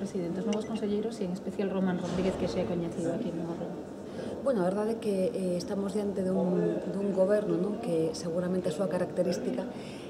presidente, os novos conselleiros e en especial Román Rodríguez, que xa é coñecido aquí no Morro? Bueno, a verdade é que estamos diante dun goberno, non, que seguramente a súa característica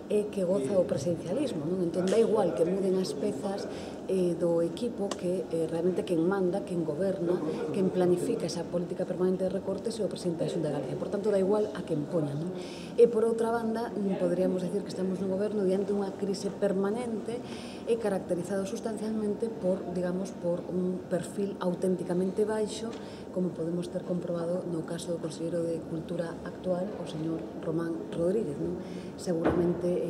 é que goza o presidencialismo, non? Entón, dá igual que muden as pezas do equipo, que realmente quen manda, quen goberna, quen planifica esa política permanente de recortes é o presidente da Xunta de Galicia. Por tanto, dá igual a quen poña, non? E, por outra banda, poderíamos decir que estamos nun goberno diante dunha crise permanente e caracterizado sustancialmente por, digamos, por un perfil auténticamente baixo, como podemos ter comprobado no caso do conselleiro de Cultura actual, o señor Román Rodríguez, non? Seguramente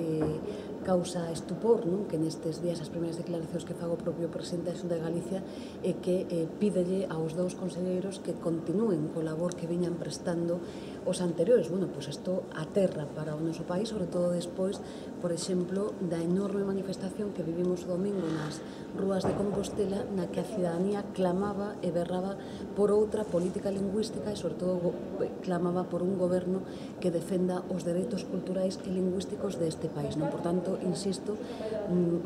causa estupor, non? Que nestes días as primeiras declaracións que faga o propio presidente da Xunta de Galicia é que pídelle aos dous conselleiros que continúen co labor que viñan prestando os anteriores. Bueno, pois isto aterra para o noso país, sobre todo despois, por exemplo, da enorme manifestación que vivimos o domingo nas rúas de Compostela, na que a cidadanía clamaba e berraba por outra política lingüística e, sobre todo, clamaba por un goberno que defenda os dereitos culturais e lingüísticos deste país, non? Por tanto, insisto,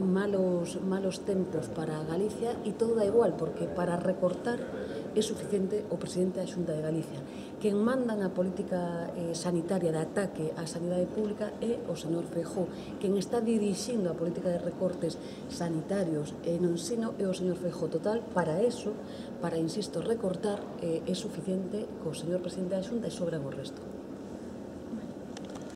malos tempos para Galicia, e todo dá igual, porque para recortar é suficiente o presidente da Xunta de Galicia. Quen manda na política sanitaria de ataque á sanidade pública é o señor Feijóo. Quen está dirixindo a política de recortes sanitarios e no ensino é o señor Feijóo. Total, para eso, para, insisto, recortar, é suficiente co señor presidente da Xunta e sobra o resto.